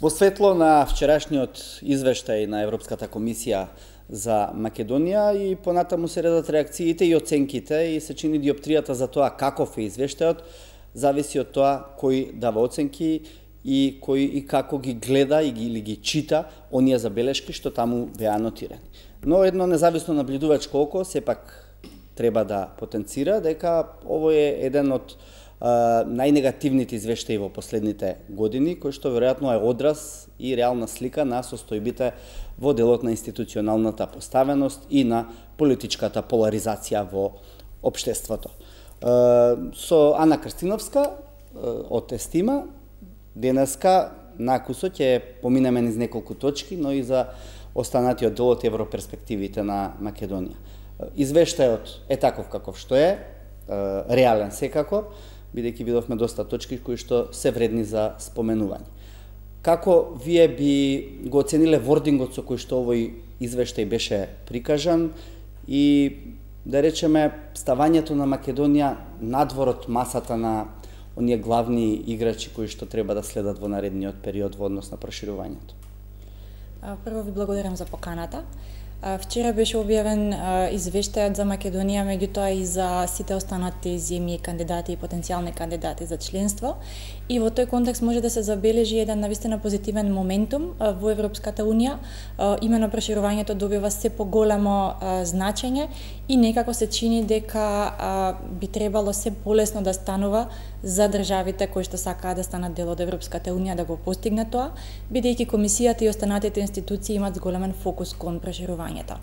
Во светло на вчерашниот извештај на Европската комисија за Македонија и понатаму се редат реакциите и оценките и се чини диоптријата за тоа каков е извештајот, зависи од тоа кој дава оценки и кој и како ги гледа или ги чита оние забелешки што таму беа анотирани. Но едно независно наблюдувачко око сепак треба да потенцира дека ово е еден од најнегативните извештаи во последните години, кој што веројатно е одраз и реална слика на состојбите во делот на институционалната поставеност и на политичката поларизација во општеството. Со Ана Крстиновска од Естима, денеска накусо ќе поминеме низ неколку точки, но и за останатиот дел од европерспективите на Македонија. Извештајот е таков каков што е, реален секако, бидејќи видовме доста точки кои што се вредни за споменување. Како вие би го оцениле вордингот со кој што овој извештај беше прикажан и, да речеме, ставањето на Македонија надвор од масата на оние главни играчи кои што треба да следат во наредниот период во однос на проширувањето? Прво ви благодарам за поканата. Вчера беше објавен извештајот за Македонија, меѓутоа и за сите останати земји, кандидати и потенцијални кандидати за членство. И во тој контекст може да се забележи еден навистина позитивен моментум во Европската Унија. Имено проширувањето добива се поголемо значење и некако се чини дека би требало се полесно да станува за државите кои што сакаат да станат дел од Европската Унија да го постигнат тоа, бидејќи комисијата и останатите институции имаат зголемен фокус кон проширувањето.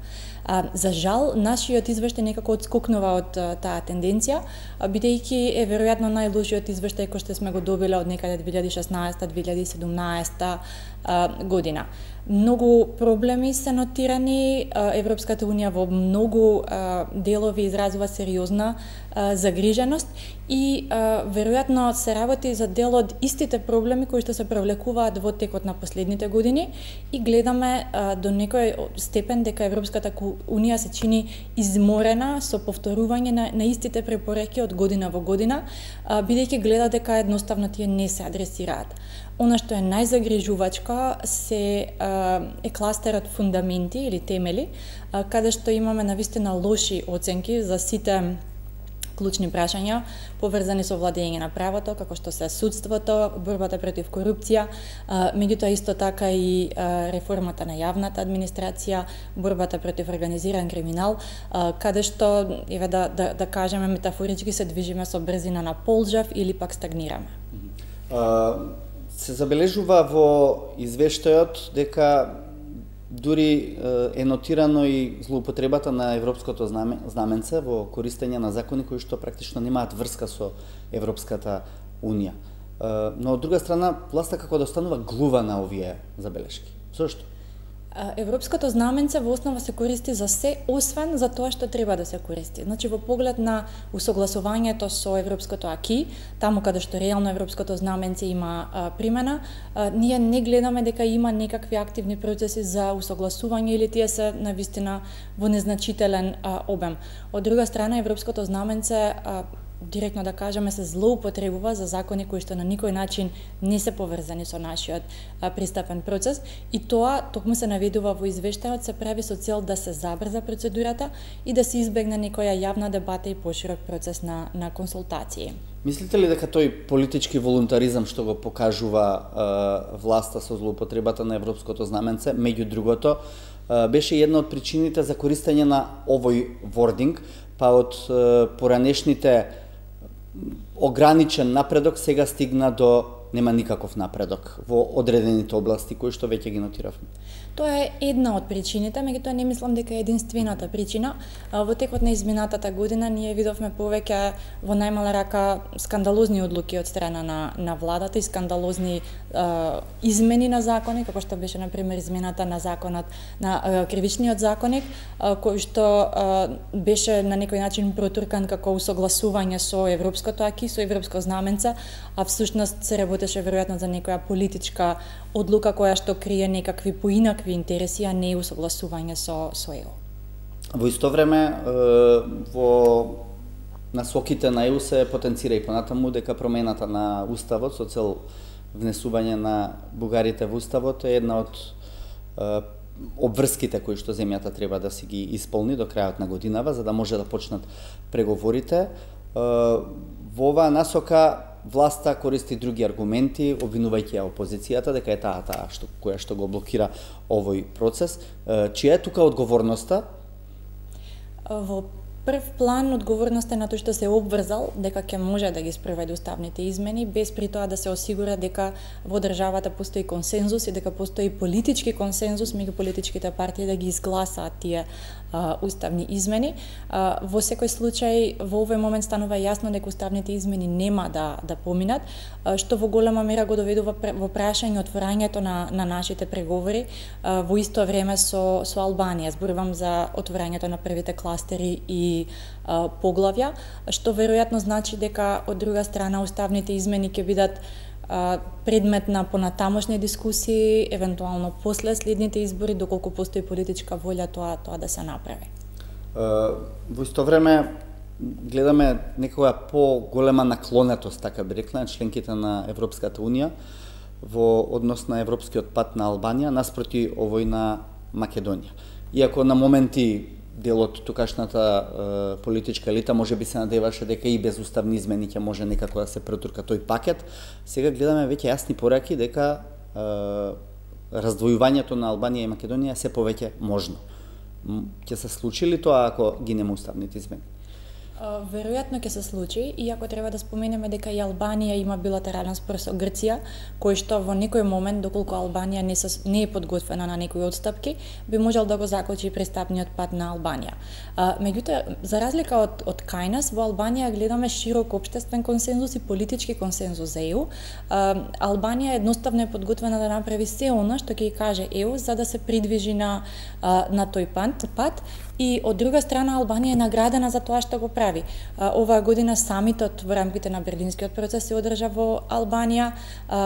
За жал, нашиот извештај некако отскокнува од таа тенденција, бидејќи е веројатно најлошиот извештај кој што сме го добиле од некаде 2016-2017 година. Многу проблеми се нотирани, Европската Унија во многу делови изразува сериозна загриженост и веројатно се работи за дел од истите проблеми кои што се привлекуваат во текот на последните години и гледаме до некој степен дека Европската Унија се чини изморена со повторување на истите препораки од година во година, бидејќи гледа дека едноставно тие не се адресираат. Она што е најзагрижувачко е кластерот фундаменти или темели, каде што имаме навистина лоши оценки за сите клучни прашања поврзани со владење на правото, како што се судството, борбата против корупција, меѓутоа исто така и реформата на јавната администрација, борбата против организиран криминал, каде што, еве да кажеме метафорички, се движиме со брзина на полжав или пак стагнираме. Се забележува во извештајот дека дури е нотирано и злоупотребата на европското знаменце во користење на закони кои што практично немаат врска со Европската Унија. Но од друга страна, власта како да останува глува на овие забелешки. Зошто? Европското знаменце во основа се користи за се, освен за тоа што треба да се користи. Значи, во поглед на усогласувањето со европското аки, таму каде што реално европското знаменце има примена, ние не гледаме дека има некакви активни процеси за усогласување или тие се навистина во незначителен обем. Од друга страна, европското знаменце директно да кажеме се злоупотребува за закони кои што на никој начин не се поврзани со нашиот пристапен процес и тоа токму се наведува во извештајот, се прави со цел да се забрза процедурата и да се избегне некоја јавна дебата и поширок процес на консултации. Мислите ли дека тој политички волунтаризам што го покажува власта со злоупотребата на европското знаменце, меѓу другото, беше една од причините за користење на овој вординг, па од поранешните ограничен напредок сега стигна до нема никаков напредок во одредените области кои што веќе ги нотиравме? Тоа е една од причините, меѓутоа не мислам дека е единствената причина. Во текот на изминатата година ние видовме повеќе во најмала рака скандалозни одлуки од страна на владата и скандалозни измени на закони, како што беше на пример измената на законот на кривичниот законник, кој што беше на некој начин протуркан како усогласување со европското аки, со европско знаменце, а всушност се работеше веројатно за некоја политичка одлука која што крие некакви поинакви интереси, а не усогласување со ЕУ. Во исто време, во насоките на ЕУ се потенцира и понатаму дека промената на уставот со цел внесување на бугарите во уставот е една од обврските кои што земјата треба да си ги исполни до крајот на годинава, за да може да почнат преговорите. Во оваа насока власта користи други аргументи, обвинувајќи ја опозицијата дека е таа која што го блокира овој процес. Чија е тука одговорноста? Во прв план одговорноста е на тој што се обврзал дека ќе може да ги спроведе уставните измени, без при тоа да се осигура дека во државата постои консензус и дека постои политички консензус меѓу политичките партии да ги изгласаат тие уставни измени. Во секој случај, во овој момент станува јасно дека уставните измени нема да поминат, што во голема мера го доведува во прашање отворањето на нашите преговори во исто време со Албанија. Зборувам за отворањето на првите кластери и поглавја, што веројатно значи дека од друга страна уставните измени ќе бидат предмет на понатамошни дискусии, евентуално после следните избори, доколку постои политичка волја тоа да се направи. Во исто време гледаме некоја поголема наклонетост, така би рекла, на членките на Европската Унија во однос на европскиот пат на Албанија наспроти овој на Македонија. Иако на моменти дел од тукашната политичка елита може би се надеваше дека и без уставни измени ќе може некако да се претурка тој пакет, сега гледаме веќе јасни пораки дека раздвојувањето на Албанија и Македонија се повеќе можно. Ќе се случи ли тоа ако ги нема уставните измени? Веројатно ќе се случи, иако треба да споменеме дека и Албанија има билатерален спор со Грција, кој што во некој момент, доколку Албанија не е подготвена на некои отстапки, би можел да го закочи пристапниот пат на Албанија. Меѓутоа, за разлика од кај нас, во Албанија гледаме широк општествен консензус и политички консензус за ЕУ. Албанија едноставно е подготвена да направи се она што ќе каже ЕУ за да се придвижи на тој пат. И од друга страна Албанија е наградена за тоа што го прави. Оваа година самитот во рамките на Берлинскиот процес се одржа во Албанија.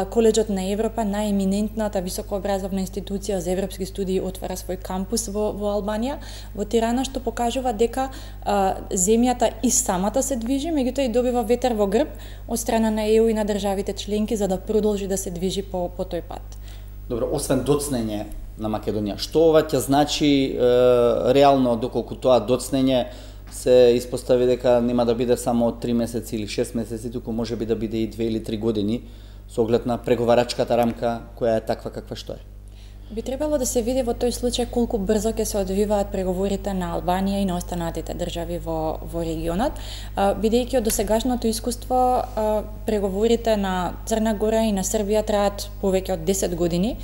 Коледжот на Европа, најеминентната високообразовна институција за европски студии, отвара свој кампус во Албанија, во Тирана, што покажува дека земјата и самата се движи, меѓутоа и добива ветер во грб од страна на ЕУ и на државите членки за да продолжи да се движи по тој пат. Добро, освен доцнење на Македонија, што ова ќе значи реално, доколку тоа доцнење се испостави дека нема да биде само 3 месеци или 6 месеци, туку може би да биде и 2 или 3 години, со оглед на преговарачката рамка која е таква каква што е? Би требало да се види во тој случај колку брзо ќе се одвиваат преговорите на Албанија и на останатите држави во регионот, бидејќи од досегашното искуство преговорите на Црна Гора и на Србија траат повеќе од 10 години.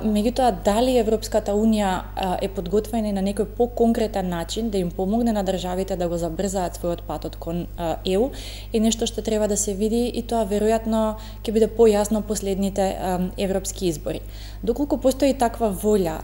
Меѓутоа, дали Европската Унија е подготвена на некој поконкретен начин да им помогне на државите да го забрзаат својот патот кон ЕУ е нешто што треба да се види и тоа веројатно ќе биде појасно последните европски избори. Доколку постои таква волја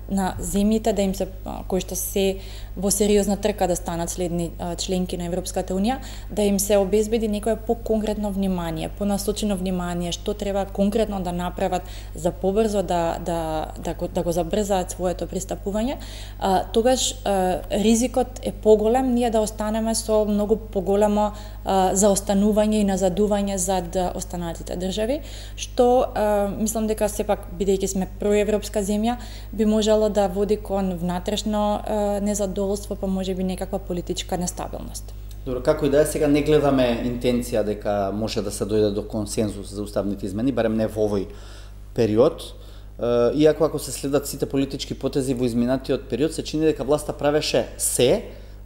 на земјите да им се кои што се во сериозна трка да станат следни членки на Европската Унија, да им се обезбеди некое поконкретно внимание, понасочено внимание што треба конкретно да направат за побрзо да го забрзаат своето пристапување, тогаш ризикот е поголем ние да останеме со многу поголемо заостанување и назадување зад останатите држави, што мислам дека сепак бидејќи сме проевропска земја би можело да води кон внатрешно незадоволство, па можеби некаква политичка нестабилност. Добро, како и да е, сега не гледаме интенција дека може да се дојде до консензус за уставните измени, барем не во овој период. Иако ако се следат сите политички потези во изминатиот период, се чини дека власта правеше се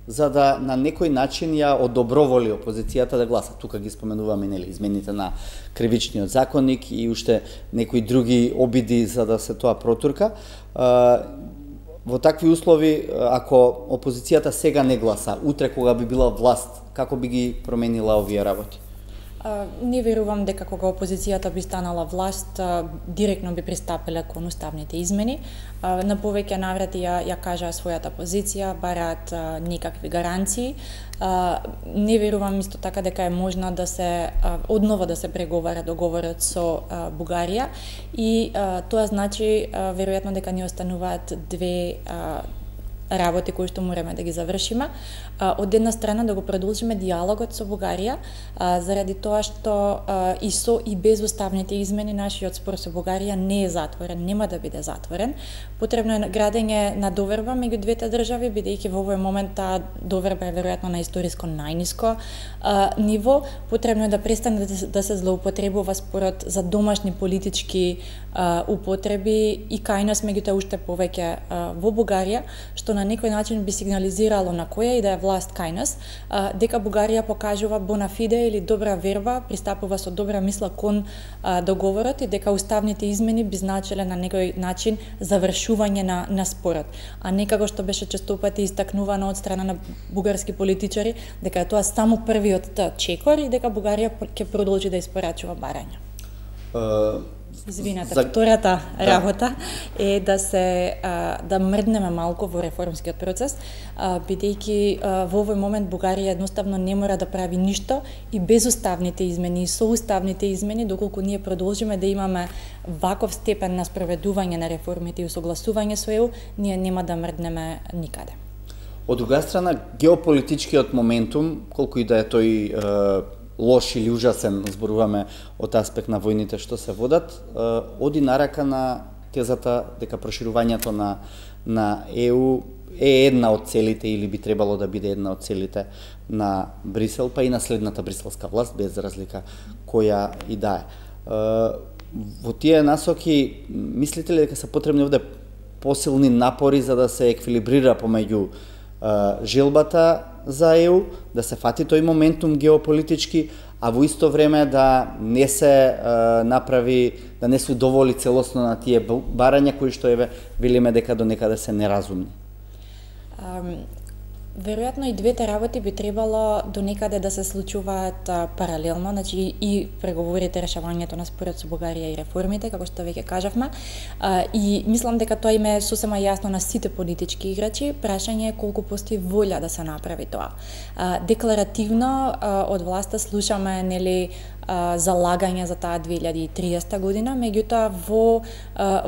за да на некој начин ја одоброволи опозицијата да гласа. Тука ги споменуваме нели измените на кривичниот законник и уште некои други обиди за да се тоа протурка. Во такви услови, ако опозицијата сега не гласа, утре кога би била власт, како би ги променила овие работи? Не верувам дека кога опозицијата би станала власт, директно би пристапила кон уставните измени. На повеќе наврати ја кажаа својата позиција, бараат некакви гаранции. Не верувам исто така дека е можно да се одново да се преговара договорот со Бугарија и тоа значи веројатно дека ни остануваат две работи кои што мораме да ги завршиме. Од една страна да го продолжиме диалогот со Бугарија, заради тоа што и со и без уставните измени нашиот спор со Бугарија не е затворен, нема да биде затворен. Потребно е градење на доверба меѓу двете држави, бидејќи во овој момент таа доверба е веројатно на историско најниско ниво. Потребно е да престане да се злоупотребува спорот за домашни политички употреби и кај нас, меѓутоа уште повеќе во Бугарија, што на некој начин би сигнализирало на која и да е власт кај нас, дека Бугарија покажува bona fide или добра верба, пристапува со добра мисла кон договорот и дека уставните измени би значеле на некој начин завршување на спорот, а не како што беше честопати истакнувано од страна на бугарски политичари, дека е тоа само првиот чекор и дека Бугарија ќе продолжи да испорачува барања. Извинете, втората работа е да мрднеме малку во реформскиот процес, бидејќи во овој момент Бугарија едноставно не мора да прави ништо и без уставните измени и со уставните измени, доколку ние продолжиме да имаме ваков степен на спроведување на реформите и усогласување со ЕУ, ние нема да мрднеме никаде. Од друга страна, геополитичкиот моментум, колку и да е тој лош или ужасен, зборуваме од аспект на војните што се водат, оди нарака на тезата дека проширувањето на ЕУ е една од целите или би требало да биде една од целите на Брисел, па и на следната бриселска власт, без разлика која и да е. Во тие насоки, мислите ли дека се потребни овде посилни напори за да се еквилибрира помеѓу желбата за ЕУ, да се фати тој моментум геополитички, а во исто време да не се направи, да не се удоволи целосно на тие барања кои што велиме дека до некаде се неразумни? Веројатно и двете работи би требало до некаде да се случуваат паралелно, значи и преговорите, решавањето на спорот со Бугарија и реформите, како што веќе кажавме. И мислам дека тоа им е сосема јасно на сите политички играчи. Прашање е колку постои волја да се направи тоа. Декларативно од власта слушаме залагање за таа 2030 година, меѓутоа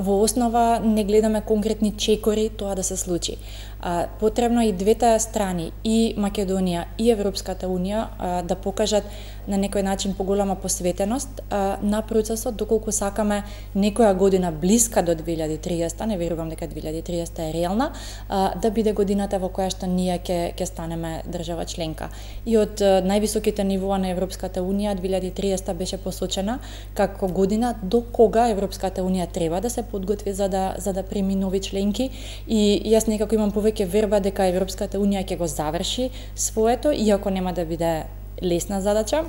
во основа не гледаме конкретни чекори тоа да се случи. Потребно и двете страни, и Македонија и Европската Унија, да покажат на некој начин поголема посветеност на процесот, доколку сакаме некоја година блиска до 2030, не верувам дека 2030 е реална, да биде годината во која што ние ќе станеме држава членка. И од највисоките нивоа на Европската Унија 2030 беше посочена како година до кога Европската Унија треба да се подготви за да прими нови членки, и јас некако имам повеќе верба дека Европската Унија ќе го заврши своето, иако нема да биде лесна задача.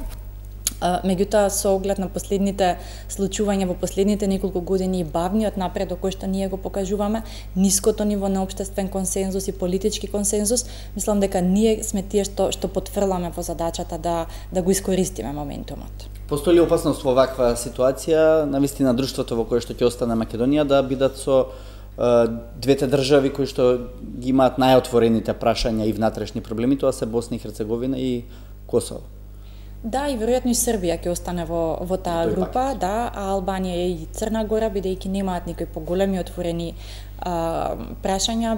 Меѓутоа, со оглед на последните случувања во последните неколку години и бавниот напредок кој што ние го покажуваме, ниското ниво на општествен консензус и политички консензус, мислам дека ние сме тие што потфрламе во задачата да го искористиме моментумот. Постои ли опасност во ваква ситуација, навистина друштвото во кое што ќе остане Македонија, да бидат со двете држави кои што ги имаат најотворените прашања и внатрешни проблеми, тоа се Босна и Херцеговина и Косово? Да, и веројатно и Србија ќе остане во таа група, да, а Албанија и Црна Гора, бидејќи немаат никои поголеми отворени прашања,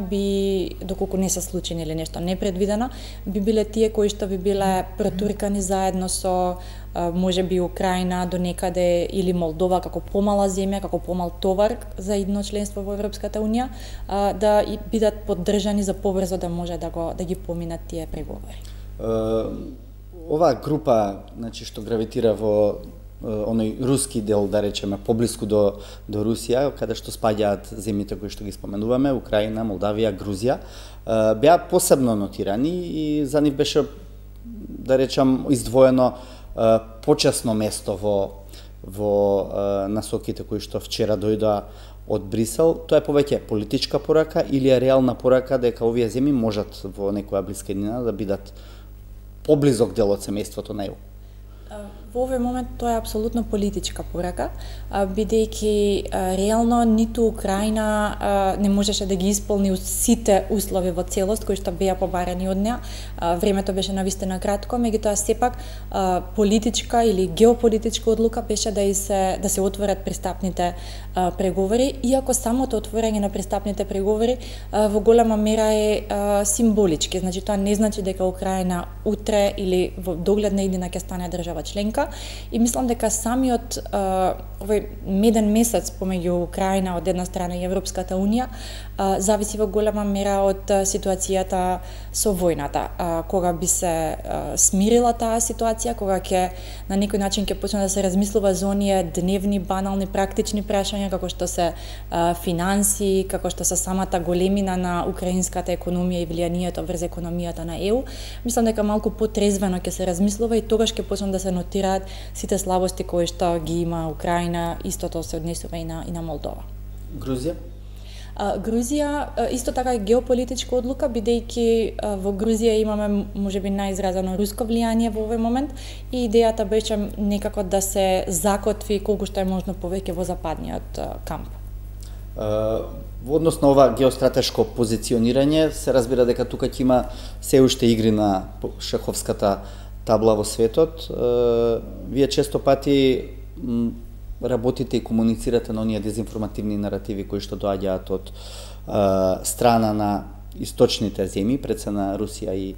доколку не се случени или нешто непредвидено, би биле тие кои што би биле протуркани заедно со можеби Украина до некаде или Молдова како помала земја, како помал товар за идно членство во Европската Унија, да бидат поддржани за побрзо да може да ги поминат тие преговори. Оваа група, значи, што гравитира во оној руски дел, да речеме, поблиску до Русија, каде што спаѓаат земјите кои што ги споменуваме, Украина, Молдавија, Грузија, беа посебно нотирани и за нив беше, да речам, издвоено почесно место во насоките кои што вчера дојдоа од Брисел. Тоа е повеќе политичка порака или е реална порака дека овие земји можат во некоја блиска иднина да бидат поблизок дел од семејството на ЕУ? Во овој момент тоа е апсолутно политичка порака, бидејќи реално ниту Украина не можеше да ги исполни сите услови во целост кои што беа побарани од неа. Времето беше навистина кратко, меѓутоа сепак политичка или геополитичка одлука беше да се отворат пристапните преговори, иако самото отворање на пристапните преговори во голема мера е символички. Значи тоа не значи дека Украина утре или во догледна иднина ќе стане држава членка, и мислам дека самиот овој меден месец помеѓу Украина од една страна и Европската унија зависи во голема мера од ситуацијата со војната. Кога би се смирила таа ситуација, кога ќе на некој начин ќе почне да се размислува за оние дневни, банални, практични прашања како што се финанси, како што се самата големина на украинската економија и влијанието врз економијата на ЕУ, мислам дека малку потрезвено ќе се размислува и тогаш ќе почнат да се нотираат сите слабости кои што ги има Украина, истото се однесува и на Молдова. Грузија? Грузија исто така е геополитичка одлука, бидејќи во Грузија имаме можеби најизразено руско влијание во овој момент и идејата беше некако да се закотви колку што е можно повеќе во западниот камп. Во однос на ова геостратешко позиционирање, се разбира дека тука ќе има се уште игри на шаховската табла во светот. Вие често пати работите и комуницирате на оние дезинформативни наративи кои што доаѓаат од страна на источните земји, пред се на Русија и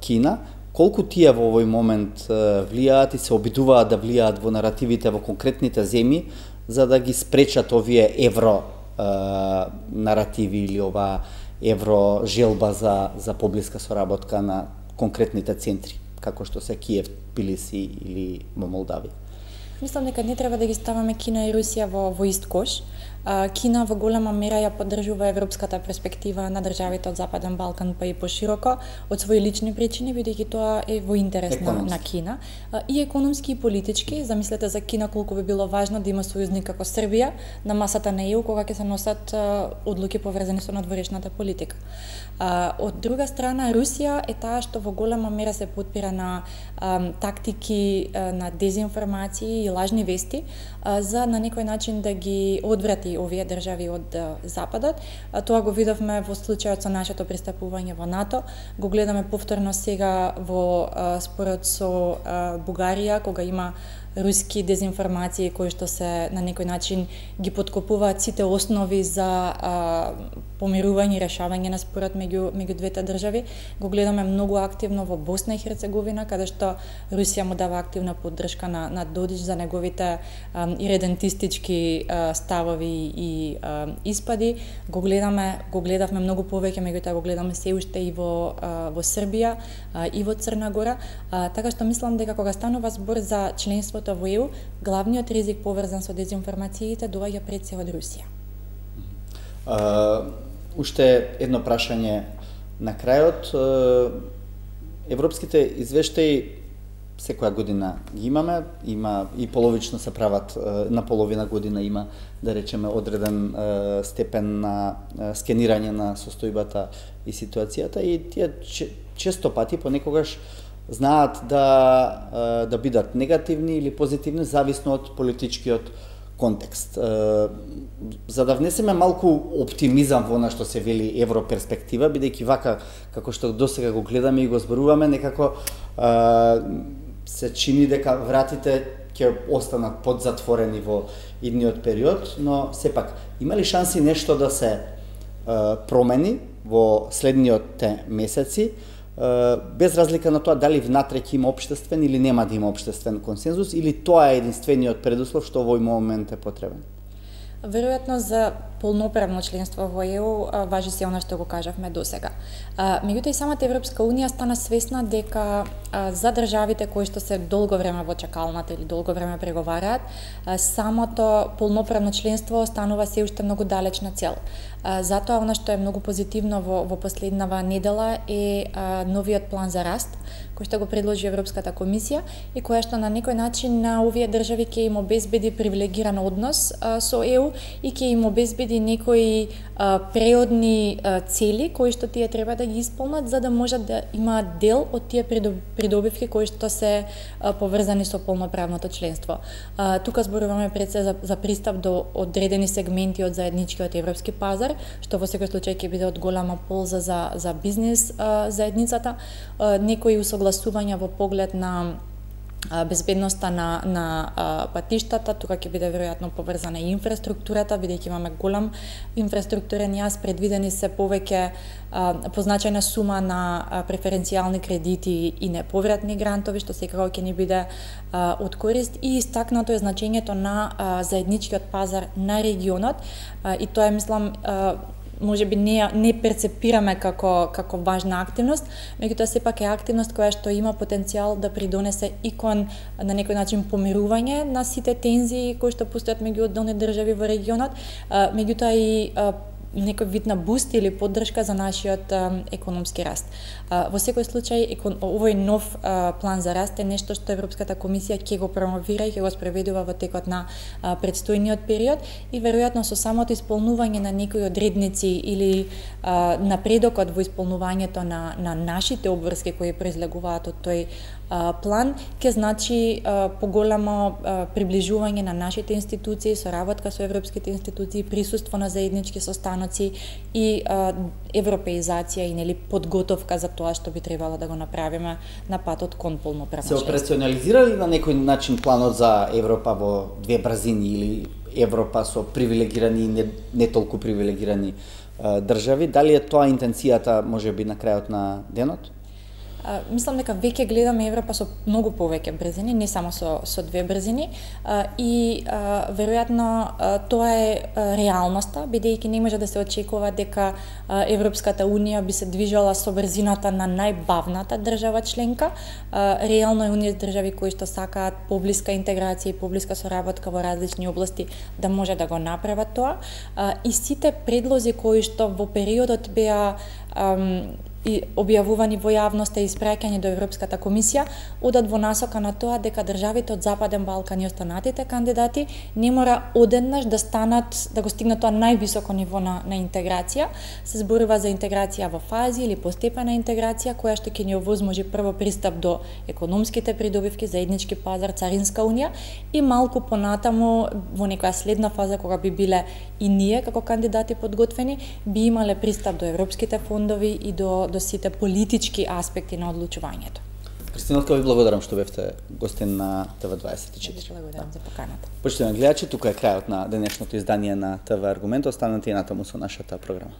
Кина. Колку тие во овој момент влијаат и се обидуваат да влијаат во наративите во конкретните земји за да ги спречат овие евро наративи или ова евро желба за поблиска соработка на конкретните центри, како што се Киев, Тбилиси или во Молдавија? Мислам дека не треба да ги ставаме Кина и Русија во ист кош. Кина во голема мера ја поддржува европската перспектива на државите од Западен Балкан, па и пошироко, од своји лични причини, бидејќи тоа е во интерес на Кина. И економски и политички, замислете за Кина колку би било важно да има сојузник како Србија на масата на ЕУ кога ќе се носат одлуки поврзани со надворешната политика. Од друга страна, Русија е таа што во голема мера се потпира на тактики на дезинформации и лажни вести за на некој начин да ги одврати овие држави од Западот. Тоа го видовме во случајот со нашето пристапување во НАТО, го гледаме повторно сега во спорот со Бугарија, кога има руски дезинформации кои што се на некој начин ги подкопуваат сите основи за помирување и решавање на спорот меѓу двете држави. Го гледаме многу активно во Босна и Херцеговина, каде што Русија му дава активна поддршка на Додич за неговите иредентистички ставови и испади. Го гледавме многу повеќе, меѓутоа го гледаме се уште и во Србија и во Црна Гора, така што мислам дека кога станува збор за членството во ЕУ, главниот ризик поврзан со дезинформациите доаѓа пред се од Русија. Уште едно прашање на крајот. Европските извештаи секоја година ги имаме, има и половично се прават, на половина година има, да речеме, одреден степен на скенирање на состојбата и ситуацијата, и тие често пати понекогаш знаат да бидат негативни или позитивни, зависно од политичкиот контекст. За да внесеме малку оптимизам во она што се вели европерспектива, бидејќи вака, како што досега го гледаме и го зборуваме, некако се чини дека вратите ќе останат подзатворени во идниот период, но сепак, има ли шанси нешто да се промени во следниот месеци, без разлика на тоа дали внатре ќе има општествен или нема да има општествен консензус, или тоа е единствениот предуслов што во овој момент е потребен? Веројатно за полноправно членство во ЕУ важи се она што го кажавме досега. Меѓутоа и самата Европска унија стана свесна дека за државите кои што се долго време во чакалната или долго време преговараат, самото полноправно членство останува се уште многу далечна цел. Затоа она што е многу позитивно во последнава недела е новиот план за раст, кој што го предложи Европската комисија и која што на некој начин на овие држави ќе им обезбеди привилегиран однос со ЕУ и ќе им обезбеди или некои преодни цели кои што тие треба да ги исполнат за да можат да имаат дел од тие придобивки кои што се поврзани со полноправното членство. Тука зборуваме пред се за пристап до одредени сегменти од заедничкиот европски пазар, што во секој случај ќе биде од голема полза за бизнес заедницата, некои усогласувања во поглед на безбедноста на патиштата, тука ќе биде веројатно поврзана и инфраструктурата, бидејќи имаме голем инфраструктурен јас, предвидени се повеќе позначајна сума на преференцијални кредити и неповратни грантови, што секако ќе ни биде од корист, и истакнато е значењето на заедничкиот пазар на регионот, и тоа е, мислам, може би не перцепираме како важна активност, меѓутоа сепак е активност која што има потенцијал да придонесе и кон на некој начин помирување на сите тензии кои што постојат меѓу одделни држави во регионот, меѓутоа и некој вид на буст или поддршка за нашиот економски раст. Во секој случај, овој нов план за раст е нешто што Европската комисија ќе го промовира и ќе го спроведува во текот на предстојниот период, и веројатно со самото исполнување на некои одредници или напредокот во исполнувањето на нашите обврски кои произлегуваат од тој план ќе значи поголемо приближување на нашите институции, соработка со европските институции, присуство на заеднички состаноци и европеизација и подготовка за тоа што би требало да го направиме на патот кон полноправно членство. Се операционализира ли на некој начин планот за Европа во две брзини или Европа со привилегирани и не толку привилегирани држави? Дали е тоа интенцијата можеби на крајот на денот? Мислам дека веќе гледаме Европа со многу повеќе брзини, не само со две брзини, и веројатно тоа е реалноста, бидејќи не може да се очекува дека Европската унија би се движала со брзината на најбавната држава членка. Реално е оние држави кои што сакаат поблиска интеграција и поблиска соработка во различни области да може да го направат тоа, и сите предлози кои што во периодот беа и објавувани во јавноста и испраќани до Европската комисија, одат во насока на тоа дека државите од Западен Балкан и останатите кандидати не мора одеднаш да станат, да го стигнат тоа највисоко ниво на интеграција. Се зборува за интеграција во фази или постепена интеграција, која што ќе ни овозможи прво пристап до економските придобивки, заеднички пазар, царинска унија, и малку понатаму во некоја следна фаза кога би биле и ние како кандидати подготвени, би имале пристап до европските фондови и до сите политички аспекти на одлучувањето. Кристина, ви благодарам што бевте гостин на ТВ24. Благодарам за поканата. Почитувани гледачи, тука е крајот на денешното издание на ТВ Аргумент. Останете и натаму со нашата програма.